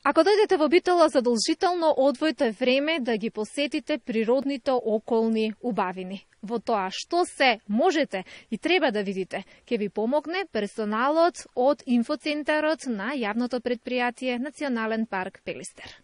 Ако дојдете во Битола, задолжително одвојте време да ги посетите природните околни убавини. Во тоа што се можете и треба да видите, ќе ви помогне персоналот од инфоцентарот на јавното предпријатие Национален парк Пелистер.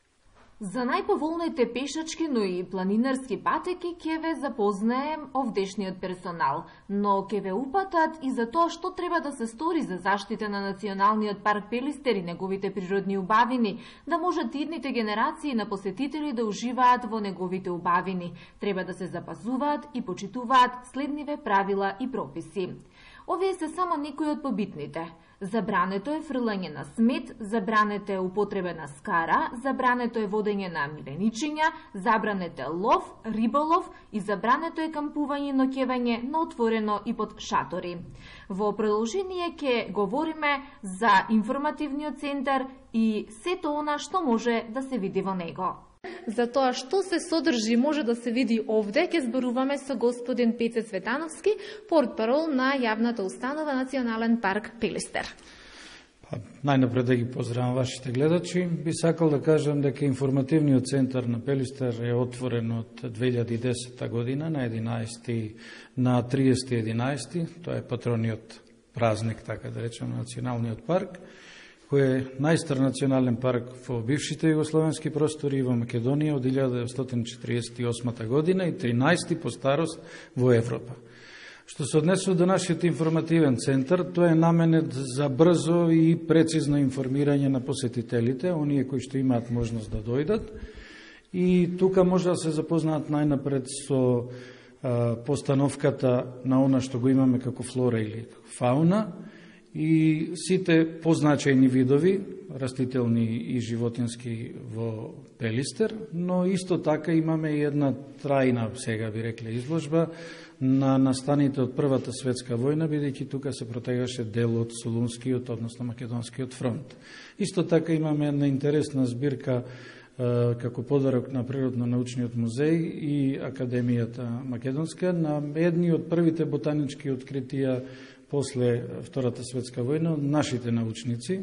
За најповолните пешачки, но и планинарски патеки ќе ве запознаем овдешниот персонал, но ќе ве упатат и за тоа што треба да се стори за заштита на Националниот парк Пелистер и неговите природни убавини, да можат идните генерации на посетители да уживаат во неговите убавини. Треба да се запазуваат и почитуваат следниве правила и прописи. Овие се само некои од побитните. Забрането е фрлање на смет, забрането е употреба на скара, забрането е водење на миленичиња, забрането е лов, риболов и забрането е кампување и ноќевање на отворено и под шатори. Во продолжение ќе говориме за информативниот центар и сето она што може да се види во него. За тоа што се содржи може да се види овде, ќе зборуваме со господин Пеце Цветановски, портпарол на јавната установа Национален парк Пелистер. Најнапред да ги поздравам вашите гледачи. Би сакал да кажам дека информативниот центар на Пелистер е отворен од 2010 година на 30.11. Тоа е патрониот празник, така да речем, на Националниот парк, кој е најстар национален парк во бившите југословенски простори во Македонија од 1948 година и 13 по старост во Европа. Што се однесува до нашиот информативен центар, тоа е наменет за брзо и прецизно информирање на посетителите, оние кои што имаат можност да дојдат. И тука може да се запознаат најнапред со постановката на она што го имаме како флора или како фауна, и сите позначајни видови, растителни и животински во Пелистер, но исто така имаме и една трајна, сега би рекле, изложба на настаните од Првата светска војна, бидејќи тука се протегаше дел од Солунскиот, односно Македонскиот фронт. Исто така имаме една интересна збирка како подарок на Природно-научниот музеј и Академијата Македонска на едни од првите ботанички откритија после Втората светска војна од нашите научници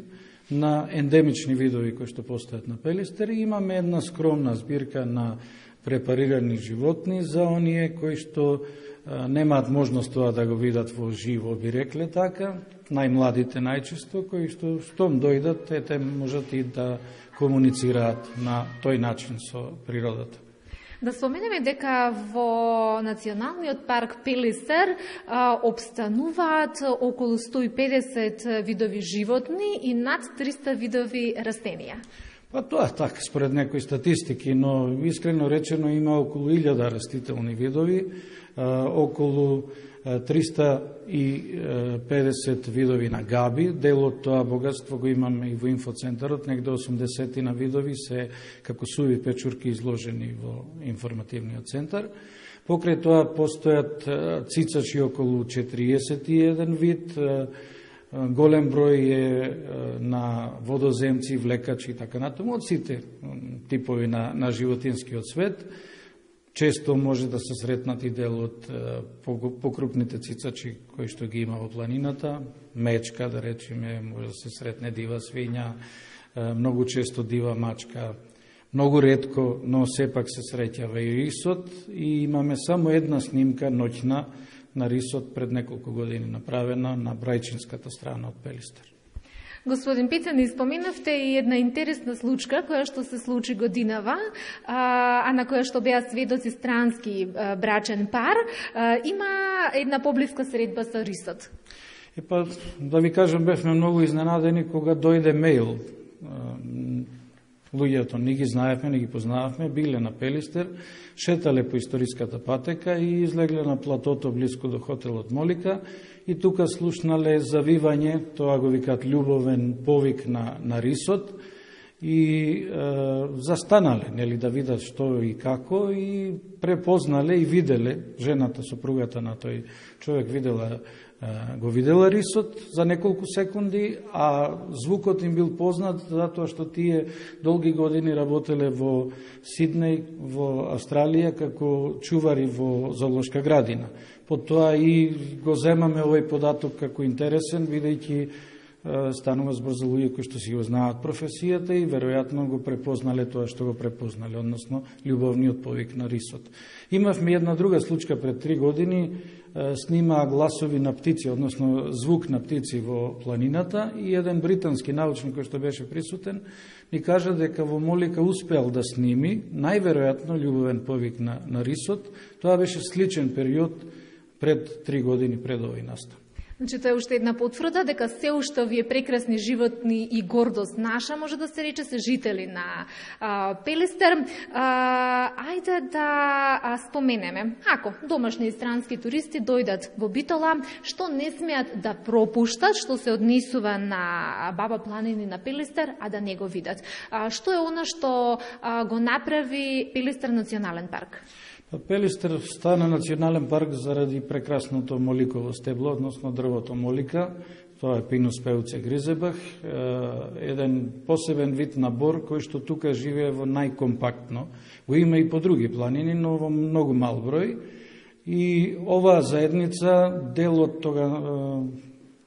на ендемични видови кои што постојат на Пелистер. И имаме една скромна збирка на препарирани животни за оние кои што немаат можност тоа да го видат во живо, би рекле така, најмладите најчесто, кои што штом дојдат, те можат и да комуницираат на тој начин со природата. Да споменеме дека во Националниот парк Пелистер обстануваат околу 150 видови животни и над 300 видови растенија. Па тоа така, според некои статистики, но искрено речено има околу 1000 растителни видови, околу 350 видови на габи. Дел од тоа богатство го имаме и во инфоцентарот, негде 80 на видови се како суви печурки изложени во информативниот центар. Покрај тоа постојат цицачи околу 41 вид, голем број е на водоземци, влекачи и така натаму, од сите типови на животинскиот свет. Често може да се сретнат и дел од покрупните цицачи кои што ги има во планината, мечка, да речеме, може да се сретне дива свиња, многу често дива мачка, многу ретко, но сепак се среќава и рисот, и имаме само една снимка ноќна на рисот пред неколку години направена на брајчинската страна од Пелистер. Господин Пице, ни споменавте и една интересна случка која што се случи годинава, а на која што беа сведоци странски брачен пар. Има една поблиска средба со рисот. Да ви кажам, бевме многу изненадени кога дојде мејл. Луѓето не ги знаевме, не ги познававме, биле на Пелистер, шетале по историската патека и излегле на платото близко до хотелот Молика и тука слушнале завивање, тоа го викаат љубовен повик на рисот, и застанале, нели, да видат што и како, и препознале и виделе, жената, сопругата на тој човек го видела рисот за неколку секунди, а звукот им бил познат затоа што тие долги години работеле во Сиднеј, во Австралија, како чувари во зоолошка градина. Потоа и го земаме овој податок како интересен, бидејќи станува збор за луѓе кои што си го знаат професијата и веројатно го препознале тоа што го препознале, односно љубовниот повик на рисот. Имавме една друга случка пред 3 години, снима гласови на птици, односно звук на птици во планината, и еден британски научник кој што беше присутен ни кажа дека во Молика успеал да сними најверојатно љубовен повик на рисот. Тоа беше сличен период пред 3 години пред овој настан. Значи, тоа е уште една потврда дека се уште овие прекрасни животни и гордост наша, може да се рече, се жители на Пелистер. Ајде да споменеме, ако домашни и странски туристи дојдат во Битола, што не смеат да пропуштат, што се однесува на Баба планини на Пелистер, а да не го видат. Што е она што го направи Пелистер национален парк? Пелистер стана национален парк заради прекрасното моликово стебло, односно дрвото молика. Тоа е Pinus peuce grisebach, еден посебен вид на бор кој што тука живее во најкомпактно. Го има и по други планини, но во многу мал број. И оваа заедница, дел од тога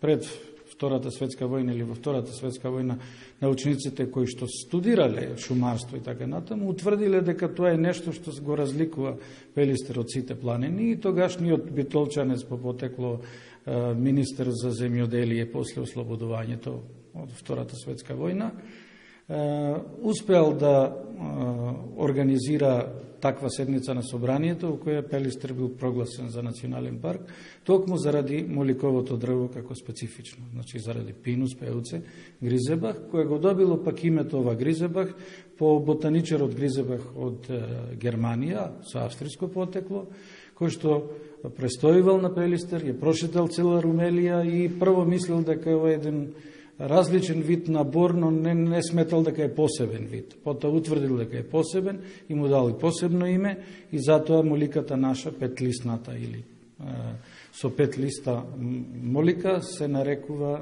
пред Втората светска војна или во Втората светска војна, научниците кои што студирале шумарство и така натаму, утврдиле дека тоа е нешто што го разликува Пелистер од сите планини, и тогашниот битолчанец по потекло министер за земјоделие после ослободувањето од Втората светска војна, успеал да организира таква седница на собранието, во која Пелистер бил прогласен за национален парк, токму заради моликовото дрво како специфично, значи заради Pinus peuce grisebach, кој го добило пак името ова Гризебах по ботаничарот Гризебах од Германија, со австриско потекло, кој што престојувал на Пелистер, ја прошетал цела Румелија и прво мислил дека е еден различен вид на бор, но не сметал дека е посебен вид. Потоа утврдил дека е посебен и му дал и посебно име, и затоа моликата наша, петлистната или со 5 листа молика, се нарекува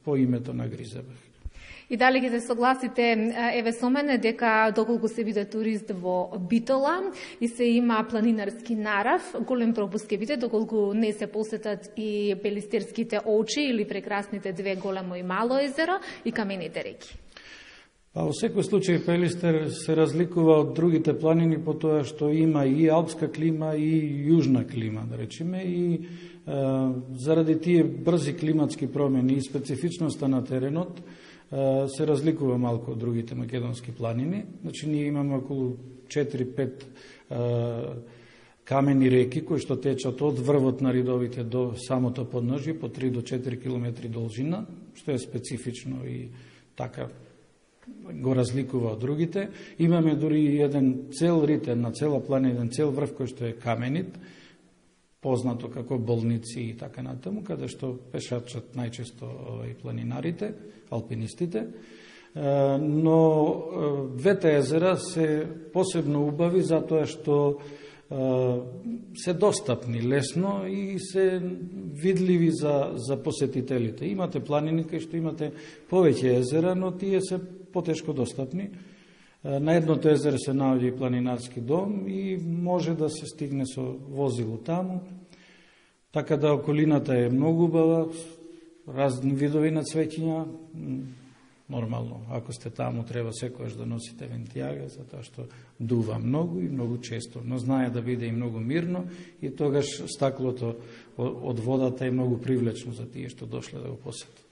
по името на Гризебах. И дали ќе се согласите, еве со мене, дека доколку се биде турист во Битола и се има планинарски нарав, голем пропуск ќе биде доколку не се посетат и пелистерските очи или прекрасните две големо и мало езеро и камените реки. Во секој случај Пелистер се разликува од другите планини по тоа што има и алпска клима и јужна клима, да речеме, и заради тие брзи климатски промени и специфичноста на теренот, се разликува малку од другите македонски планини. Значи, ние имаме околу 4-5 камени реки кои што течат од врвот на ридовите до самото подножје, по 3 до 4 километри должина, што е специфично и така го разликува од другите. Имаме дури еден цел рид, една цела планина, еден цел врв кој што е каменит, познато како болници и така натаму, каде што пешачат најчесто и планинарите, алпинистите. Но двете езера се посебно убави затоа што се достапни лесно и се видливи за посетителите. Имате планини кај што имате повеќе езера, но тие се потешко достапни. На едното езеро се наоѓа и планинарски дом и може да се стигне со возило таму. Така да околината е многу убава, разни видови на цвеќиња. Нормално, ако сте таму, треба секојаш да носите вентијага, затоа што дува многу и многу често, но знае да биде и многу мирно, и тогаш стаклото од водата е многу привлечно за тие што дошле да го посетат.